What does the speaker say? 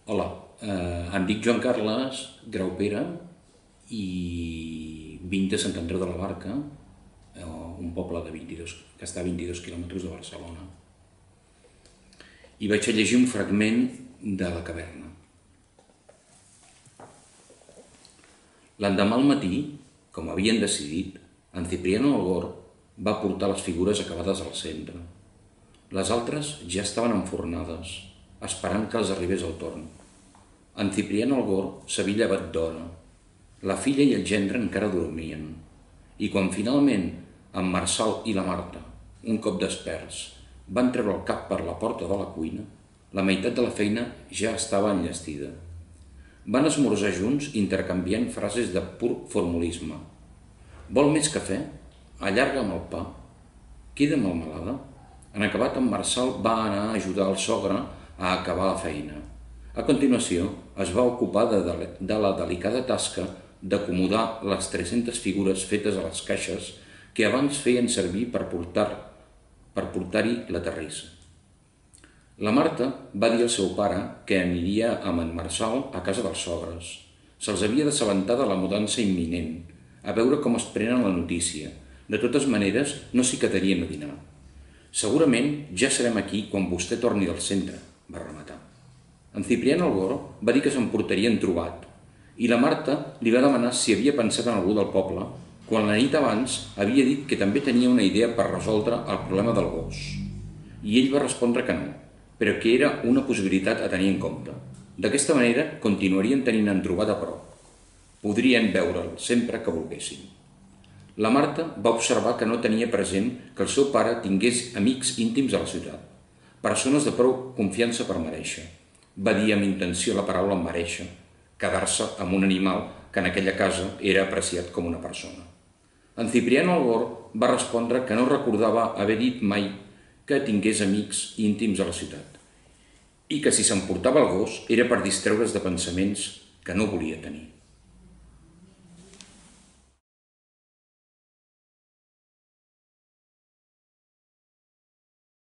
Hola, em dic Joan Carles Graupera i vinc de Sant Andreu de la Barca, un poble que està a 22 quilòmetres de Barcelona. I vaig a llegir un fragment de La caverna. L'endemà al matí, com havien decidit, en Cipriano Algor va portar les figures acabades al centre. Les altres ja estaven enfornades, esperant que els arribés el torn. En Cipriano Algor s'havia llevat d'hora. La filla i el gendre encara dormien. I quan finalment en Marçal i la Marta, un cop desperts, van treure el cap per la porta de la cuina, la meitat de la feina ja estava enllestida. Van esmorzar junts intercanviant frases de pur formulisme. Vol més cafè? Allarga'm el pa. Queda melmelada? En acabat, en Marçal va anar a ajudar el sogre a acabar la feina. A continuació, es va ocupar de la delicada tasca d'acomodar les 300 figures fetes a les caixes que abans feien servir per portar-hi la terrissa. La Marta va dir al seu pare que aniria amb en Marçal a casa dels sogres. Se'ls havia d'assabentar de la mudança imminent, a veure com es prenen la notícia. De totes maneres, no s'hi quedarien a dinar. Segurament ja serem aquí quan vostè torni del centre, va rematar. En Cipriano Algor va dir que s'emportarien trobat i la Marta li va demanar si havia pensat en algú del poble quan la nit abans havia dit que també tenia una idea per resoldre el problema del gos. I ell va respondre que no, però que era una possibilitat a tenir en compte. D'aquesta manera continuarien tenint en trobat a prop. Podrien veure'l sempre que volguessin. La Marta va observar que no tenia present que el seu pare tingués amics íntims a la ciutat, persones de prou confiança per mereixer. Va dir amb intenció la paraula mereixer, quedar-se amb un animal que en aquella casa era apreciat com una persona. En Cipriano Algor va respondre que no recordava haver dit mai que tingués amics íntims a la ciutat i que si s'emportava el gos era per distreure's de pensaments que no volia tenir.